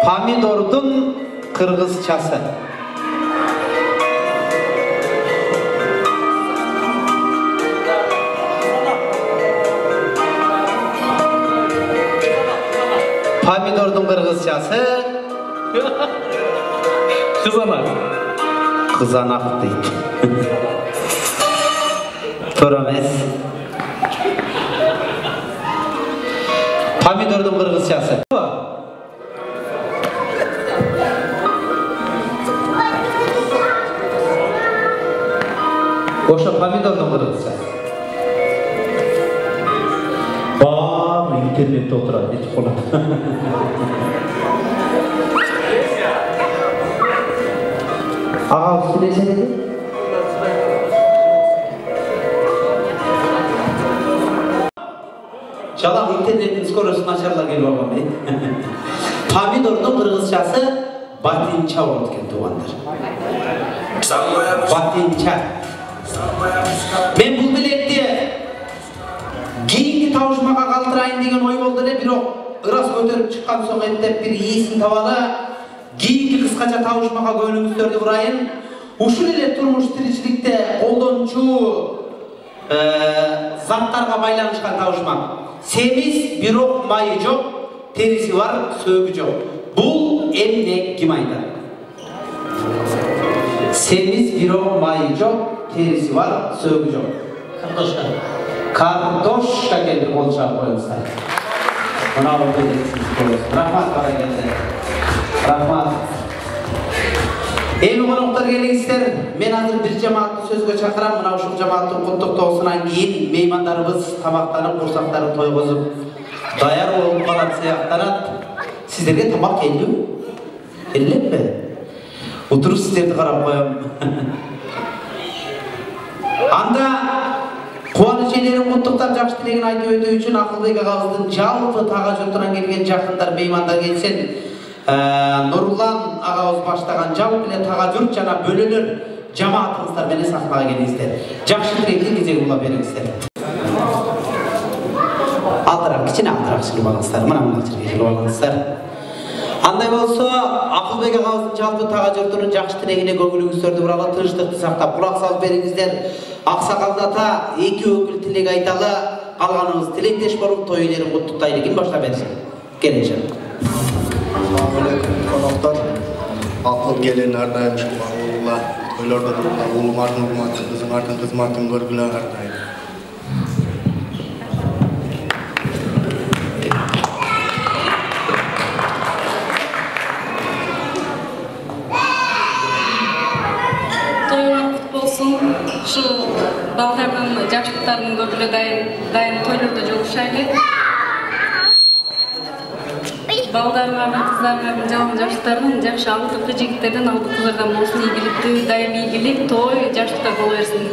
Pomidordun kırgızçası. Помидордун кыргызчасы Кызанак. Кызанак дейт. Туура эмес. Помидордун кыргызчасы. Ошо помидордун кыргызчасы. Баары интернетте отурат, этип калат. Ага, сүйлөсө деди. Жалаң интернеттин скоросту начарлап келип алган дейт. Помидордун кыргызчасы батинча болот экен туугандар. Батинча. Мен бул билекти кийинки табышмага калтырайын деген ой болду эле, бирок ырас көтөрүп чыккан соң эптеп бир ийсин табалы кийинки кыскача табышмага көңүлүңүздөрдү бурайын. Ушул эле турмуш тиричиликте колдончу заттарга байланышкан табышмак. Семиз, бирок майы жок, териси бар, сөөгү жок. Бул эмне, ким айтат? Semiz, biro, mayı çok, terisi var, söğü çok. Kardoşka. Kardoşka geldi olacak koyunsa. Buna orada edeceksiniz koyunsa. Rahmat bana geldi. Rahmat. Evi konuklar gelingizler. Men hazır bir cemaatni sözgө çakıram. Mına uşul cemaattın kutluktoğusundan keyin meymanlarımız tamaktanıp, kursaklarını toygozup dayar olup kalan seyaktanat. Sizlerge tamak keldi mi? Keldiler mi? Oturup sizlerdi karap koyam. Anda Kuvanç eylerin kutluktan jakşı tilegin aytып ötүү үчүn Акылбек агабыздын жалпы тага журтунан келген жакындар, меймандар келсен, Нурлан агабыз баштаган жалпы эле тага журт жана бөлөлөр жамаатыңыздар менен сахнага келиңиздер. Жакшы тилектин кезеги улап бериңиздер. Алдыраак, кичине алдыраак чыгып алыңыздар. Мына мына жерге чыгып алыңыздар. Андай болсо, Акылбек агабыздын жалпы тага журтунун жакшы тилегине көңүлүңүздөрдү буралы, тынчтыкты сактап, кулак салып бериңиздер. Аксакал ата эки өкүл тилек айталы, калганыбыз тилектеш болуп той элерин куттуктайлы. Ким баштап берсин? Келинчи. Assalamu alaikum konoqlar. Aqıl gelin her daim şu Allah. Toylarda da oğlum ardın hurmatı, kızım ardın kızmatın görgüler her daim. Şu bağlarının yaşlıklarının görgüle daim, daim toylarda joluşaylı. Bağlarlarının, kızlarlarının, жалын жаштарының жакшы алдыкы жигиттерден алдыкы кыздардан болсун ийгиликтүү, дайым ийгилик, той, жаштыктар боло берсин.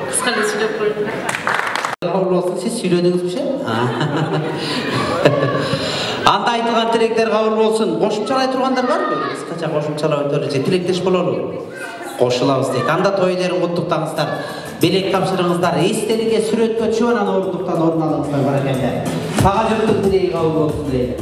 Кыска эле сүйлөп коюм. Кабыл болсун, сиз сүйлөдүңүзбү? Анда айтылган тилектер кабыл болсун. Кошумчалай тургандар барбы? Кыскача кошумчалап өтөлү же тилектеш бололу. Кошулабыз дейт. Анда той элерин куттуктаңыздар. Белек тапшырыңыздар. Эстеликке сүрөткө түшүп анан ордуктан орун алыңыздар баракелде. Сага журттун тилеги кабыл болсун дейт.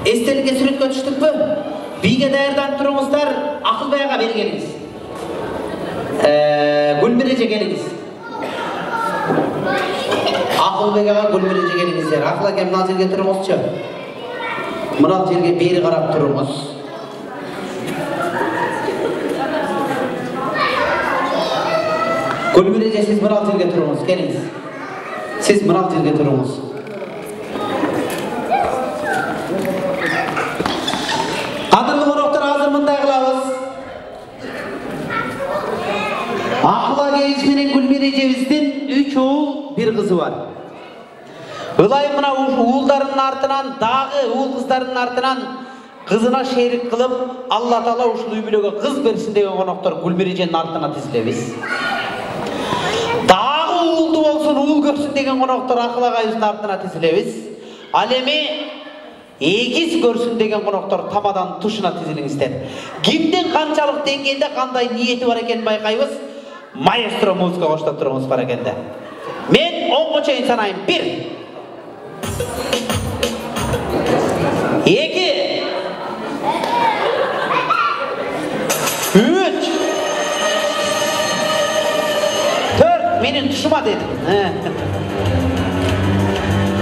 Эстеликке сүрөткө түштүкпү? Бийге даярданып туруңуздар. Акылбек ага бери келиңиз. Гүлмиреже келиңиз. Акылбек ага Гүлмиреже келиңиздер. Акыл аке мына жерге туруңузчу. Мына жерге бери карап туруңуз. Гүлмиреже сиз мына жерге туруңуз, келиңиз. Сиз мына жерге туруңуз. Adırlı konuklar hazır mınday kılavuz. Akıla Gezmen'in Gülmirece'mizden üç oğul bir kızı var. Ilayım mına oğullarının artınan, dağı oğul kızlarının artınan kızına şerik kılıp Allah Taala uşul üybülöge kız bersin degen konuklar Gülmirece'nin artına tizilebиz. Dağı уулду болсун, уул көрсүн деген коноктор акыл агайыбыздын артына тизилебиз. Ал эми эгиз көрсүн деген коноктор тамадан тушуна тизилиңиздер. Кимдин канчалык деңгээлде кандай ниети бар экенин байкайбыз. Маэстро музыка коштоп туруңуз бар экенде. Мен онго чейин санайм. бир, эки, үч, төрт, менин тушума дедим.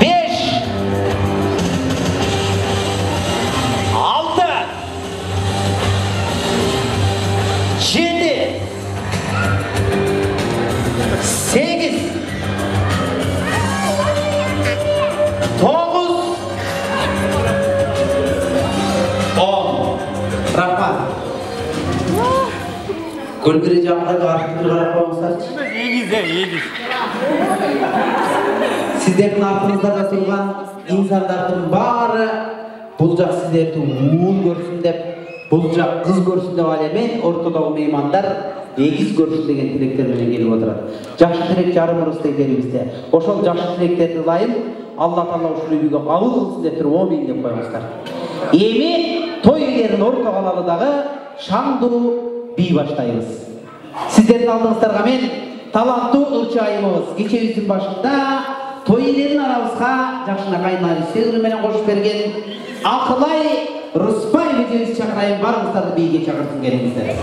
беш, алты, жети, сегиз, тогуз, он. Рахмат. Көлбери жагында каршы карап коюңуздарчы. Эгиз, эгиз. Сиздердин артыңыздарда турган инсандардын баары бул жак сиздерди уул көрсүн деп, бул жак кыз көрсүн деп ал эми ортодогу меймандар эгиз көрсүн деген тилектер менен келип отурат. Жакшы тилек жарымыбызда элибизде. Ошол жакшы тилектерди ылайым Алла Таала ушул үйгө кабыл кылсын деп туруп амин деп коюңуздар. Эми той үйлерин ортого алалы дагы шаңдуу бий баштайбыз. Сиздердин алдыңыздарга мен таланттуу ырчы айымыбыз кечебиздин башында той элерин арабызга жакшынакай нарисегүл менен кошуп берген Акылай Рыспай эжебизди чакырайын, барыңыздарды бийге чакыртып келиңиздер.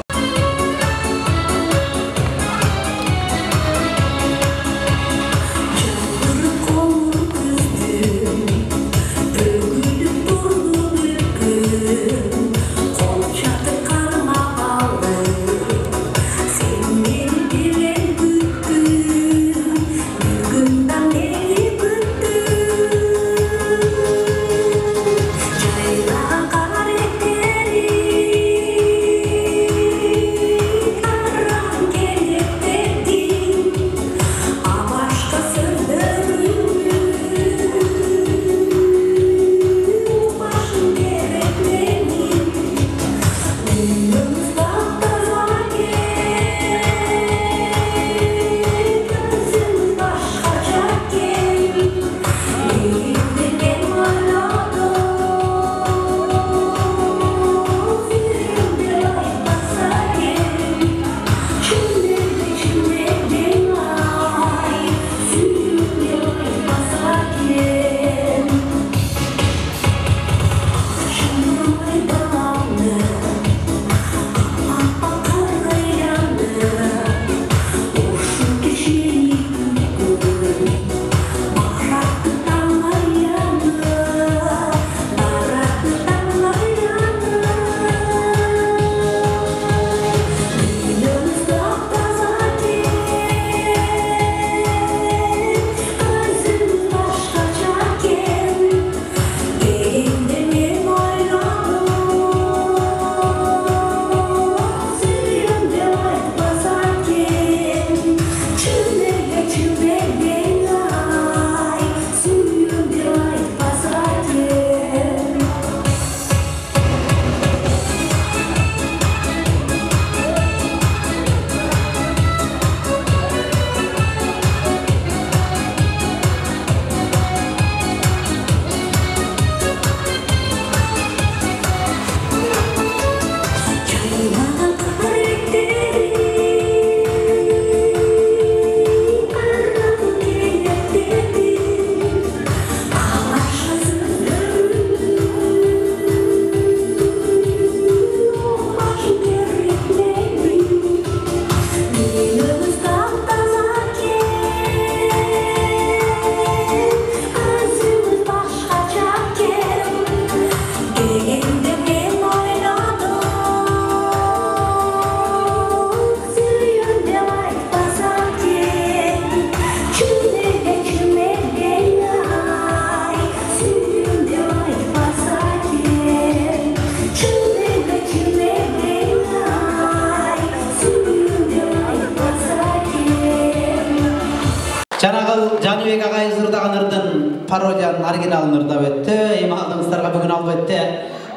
Жанагыл Жаныбек агай ырдаган ырдын пародиянын оригиналын ырдап өттү. Эми алдыңыздарга бүгүн албетте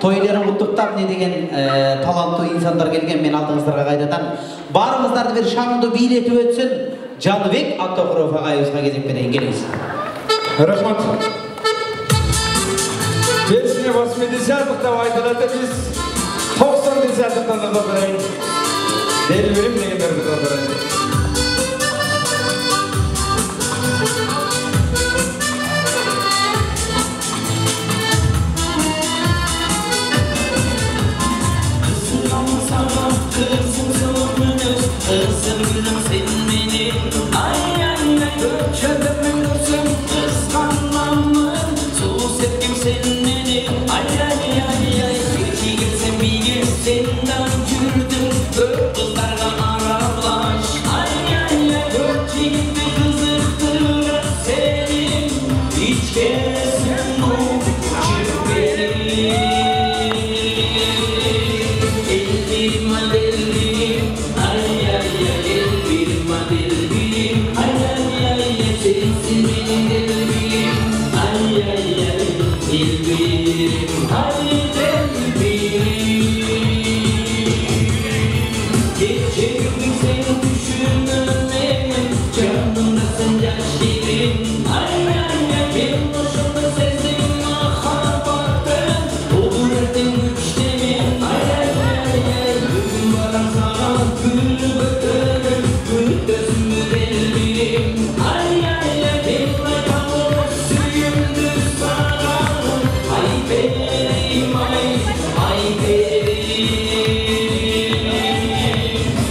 тойлорун куттуктап не деген таланттуу инсандар келген. Мен алдыңыздарга кайрадан баарыңыздарды бир шаңдуу бийлетип өтсүн. Жаныбек Абдукуров агайыбызга кезек берейин, келиңиз. Рахмат. Песня восьмидесятых деп айтылады, биз токсон десятыктан да барайын. Делберим дегендерди да барайын. Kızım gülüm sen benim, ay ay ay köşedemin görsün kıskanmamın, sus ettim sen benim, ay ay ay ay geçi gelsen bir gel senden yürüdüm, dört kızlarla aralaş, ay ay ay dört yiğitli kızıktır senin, hiç kesin bu çırpeli. Ellerim ellerim, ay ay ay ellerim ellerim, ay ay ay ay sensin benim ellerim, ay ay ay ellerim, ay ellerim. Gece gündüz seni düşünmemin, canımda sen yaşayayım, ay ay ay en başımda sezdim mahabbetten, olur ettim güçlemin, ay ay ay. Bugün sana gül bakarım, gül gözümü delbirim, ay ay ay benimle kalır suyumdur sana, ay benim ay, ay benim.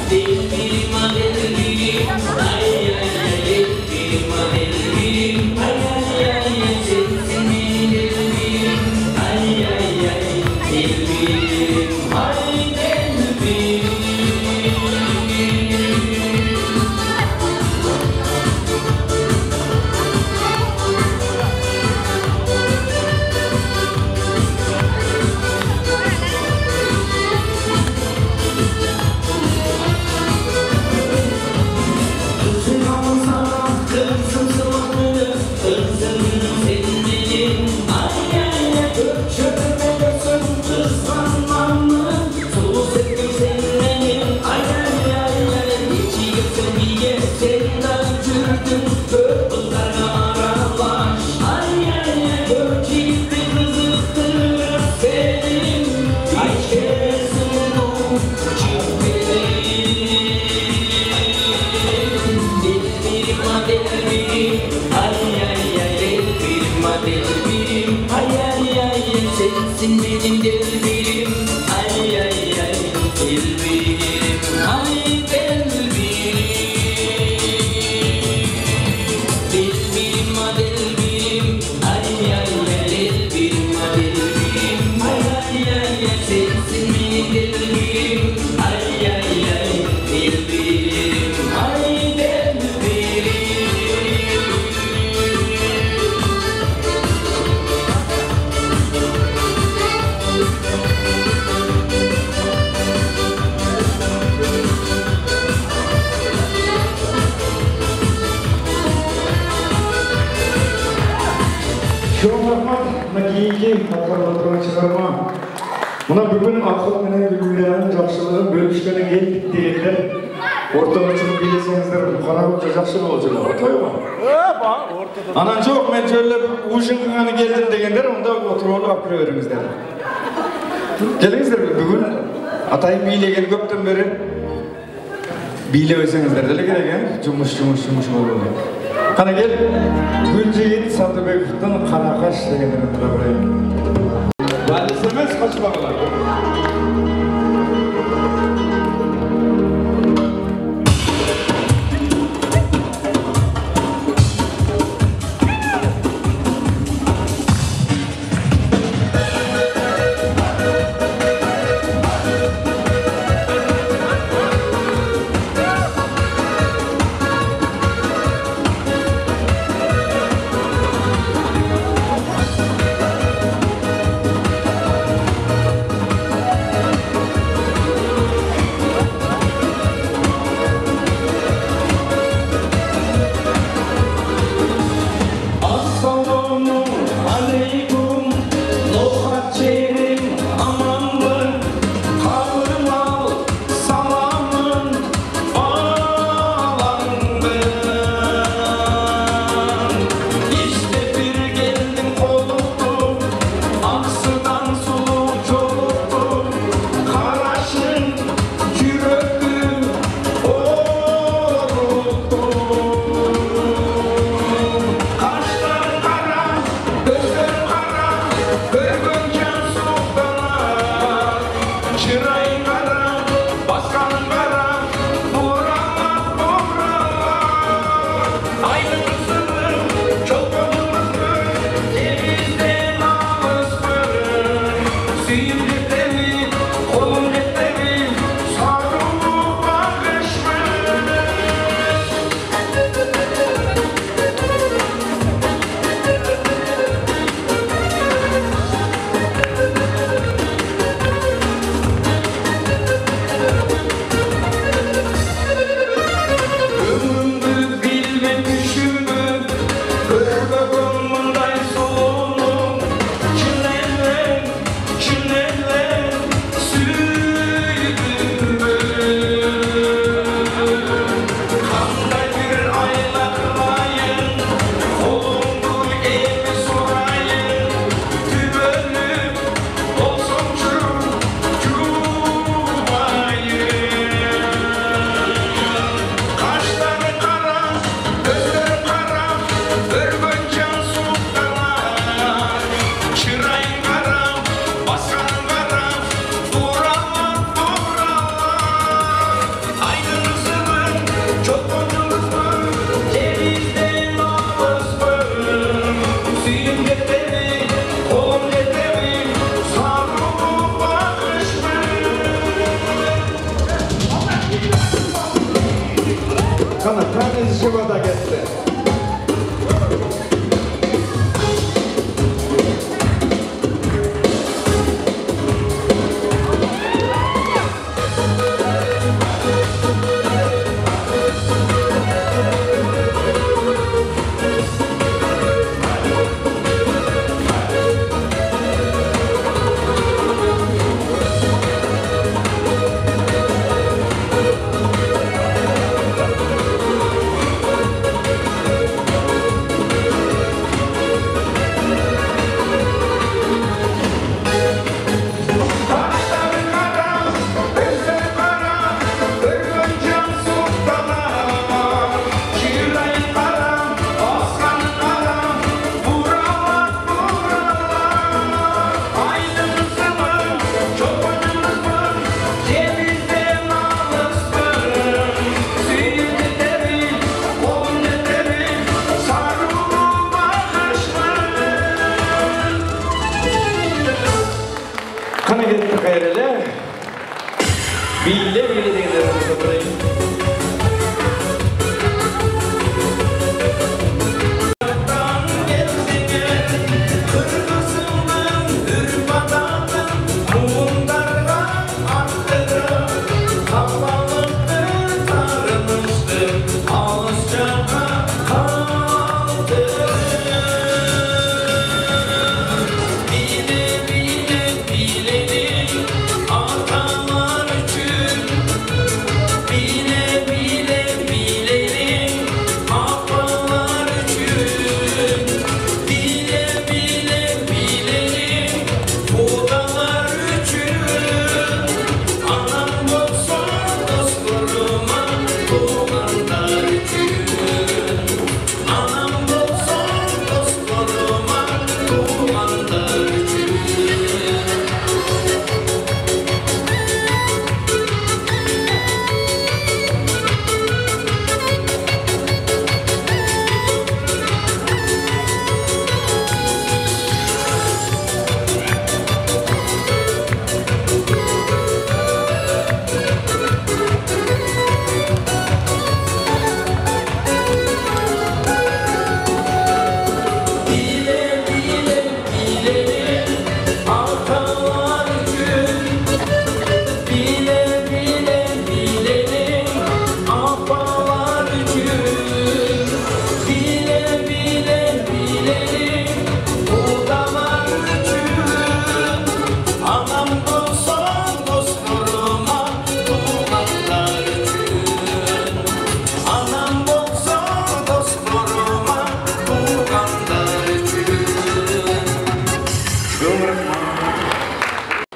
Delbirim a delbirim, ay ay ay delbirim a delbirim, ay ay ay ay sensin benim delbirim, ay ay ay delbirim, ay delbirim. Kızım sana, kızım sana, kızım sen benim, ay ay ay köşedemin görsün kıskanmamın, sus ettim sen benim, ay ay ay ay geçi gelsen bir gel senden yürüdüm, dört kızlarla aralaş, ay ay ay dört yiğitli kızıktır senin, hiç kesin bu çırpeli. Delbirim a delbirim, ay ay ay delbirim a delbirim, ay ay ay ay sensin benim delbirim, ay ay ay delbirim, ay delbirim. Delbirim a delbirim, ay ay ay delbirim a delbirim, ay ay ay ay sensin benim delbirim, ay ay ay delbirim, ay delbirim. Çok rahmat, nakiyinki hatırla turgan çıkarma. Buna bugün akıl menen bülbüllerin jakşılığın bölüşkenin geldik degender. Ortaga çıkıp bilesеңiздер, кара көкчө жакшы болчу, отойбу? Анан жок, мен жөрлөп ушунганы келдим дегендер, онда отуруп алып алып кире бериңиздер. Келиңиздер, бүгүн атайын бийлеген көптөн бери бийлебесеңиздер деле керек экен, жумуш жумуш жумуш болду. Кана кел, Гүлжигит Сандыбековдун Кара каш дегендерин тура берейин. Валис эмес, качпагыла. Kana tane живота кетти. Kana gelip kayırele. Bille bille degilere satayım.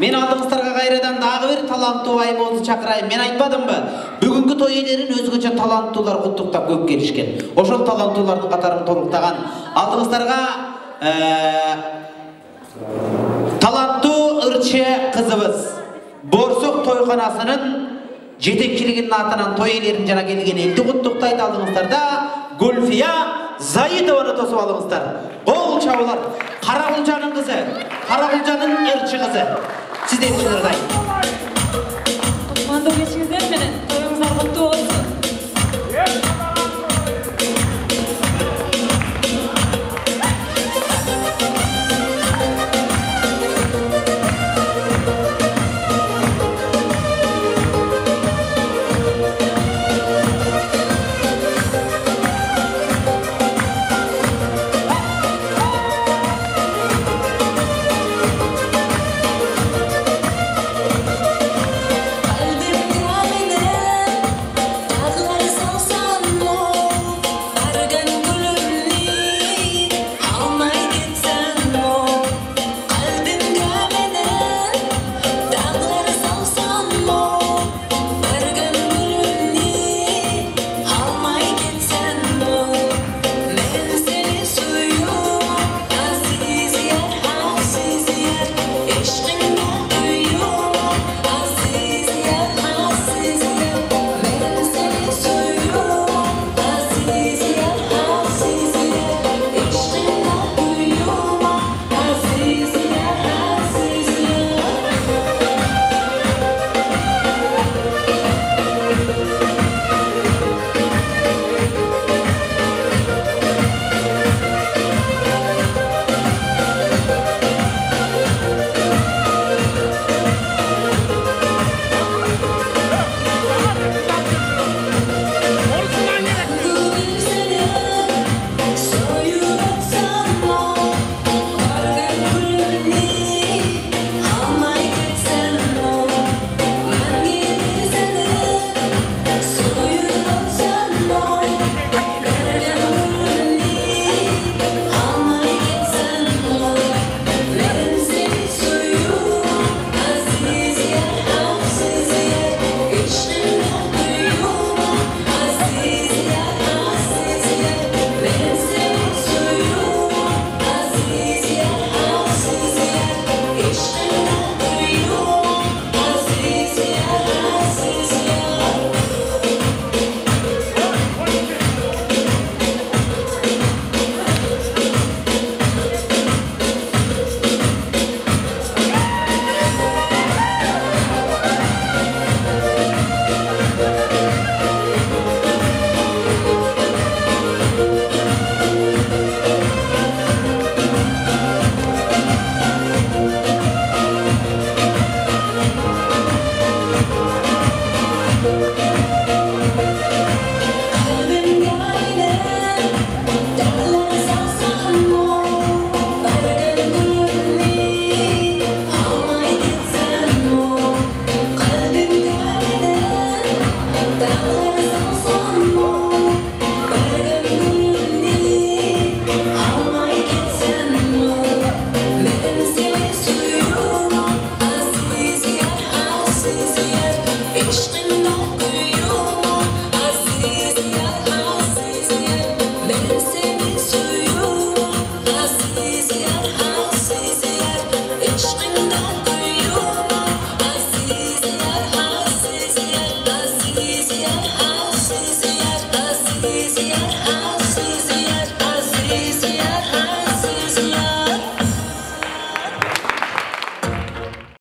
Мен алдыңыздарга кайрадан дагы бир таланттуу айымыбызды чакырайын. Мен айтпадымбы? Бүгүнкү той ээлерин өзгөчө таланттуулар куттуктап көп келишкен. Ошол таланттуулардын катарын толуктаган алдыңыздарга таланттуу ырчы кызыбыз Борсок тойканасынын жетекчилигинин атынан той ээлерин жана келген элди куттуктайт. Алдыңыздарда Гүлфия Заидованы тосуп алыңыздар. Кол чабуулар. Карагулжанын кызы, Карагулжанын ырчы кызы. Сизден чыгырдай. Кутмандуу кечиңиздер менен тоюңуздар куттуу болсун. Kalbim Easy.